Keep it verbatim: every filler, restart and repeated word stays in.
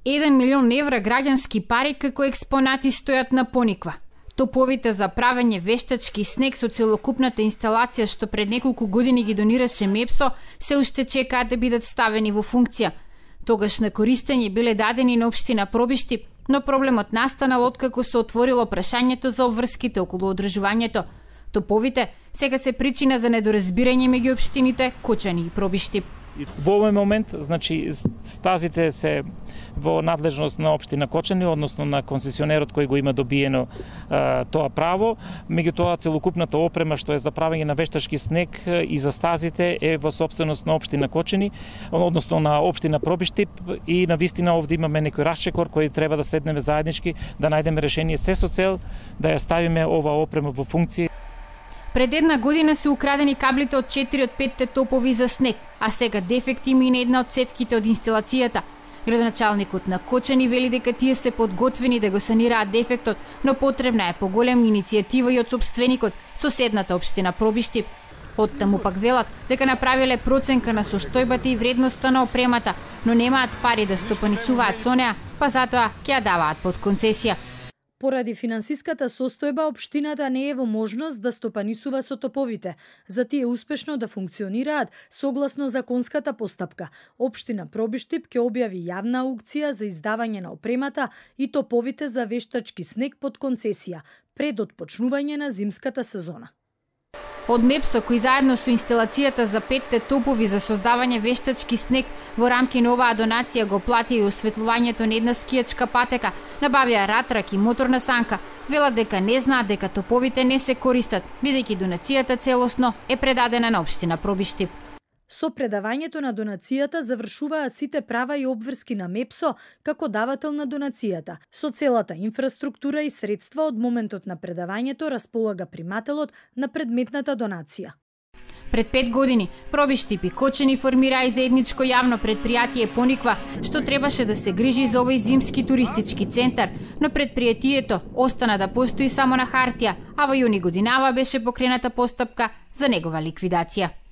еден милион евра граѓански пари како експонати стојат на Пониква. Топовите за правење вештачки снег со целокупната инсталација што пред неколку години ги донираше Мепсо се уште чекаат да бидат ставени во функција. Тогаш на користење биле дадени на општина Пробишти, но проблемот настанал откако се отворило прашањето за обврските околу одржувањето. Топовите сега се причина за недоразбирање меѓу општините Кочани и Пробишти. Во овој момент, значи, стазите се во надлежност на општина Кочани, односно на концесионерот кој го има добиено а, тоа право. Меѓутоа, целокупната опрема што е за правење на вештачки снег и за стазите е во сопственост на општина Кочани, односно на општина Пробишти, и на вистина овде имаме некој расчекор кој треба да седнеме заеднички, да најдеме решение се со цел да ја ставиме ова опрема во функција. Пред една година се украдени каблите од четири од петте топови за снег, а сега дефект има и на една од цевките од инсталацијата. Градоначалникот на Кочани вели дека тие се подготвени да го санираат дефектот, но потребна е поголема иницијатива и од сопственикот, соседната општина Пробишти. Оттаму пак велат дека направиле проценка на состојбата и вредноста на опремата, но немаат пари да стопанисуваат со неа, па затоа ќе ја даваат под концесија. Поради финансиската состојба, општината не е во можност да стопанисува со топовите, за тие успешно да функционираат согласно законската постапка. Општина Пробишти ќе објави јавна аукција за издавање на опремата и топовите за вештачки снег под концесија, пред отпочнување на зимската сезона. Од Мепсо, кој заедно со инсталацијата за петте топови за создавање вештачки снег во рамки на оваа донација го плати и осветлувањето на една скијачка патека, набавија ратрак и моторна санка, велат дека не знаат дека топовите не се користат, бидејќи донацијата целосно е предадена на општина Пробишти. Со предавањето на донацијата завршуваат сите права и обврски на Мепсо како давател на донацијата. Со целата инфраструктура и средства од моментот на предавањето располага примателот на предметната донација. Пред пет години Пробишти и Кочани формираа и заедничко јавно предпријатие Пониква, што требаше да се грижи за овој зимски туристички центар, но предпријатието остана да постои само на хартија, а во јуни годинава беше покрената постапка за негова ликвидација.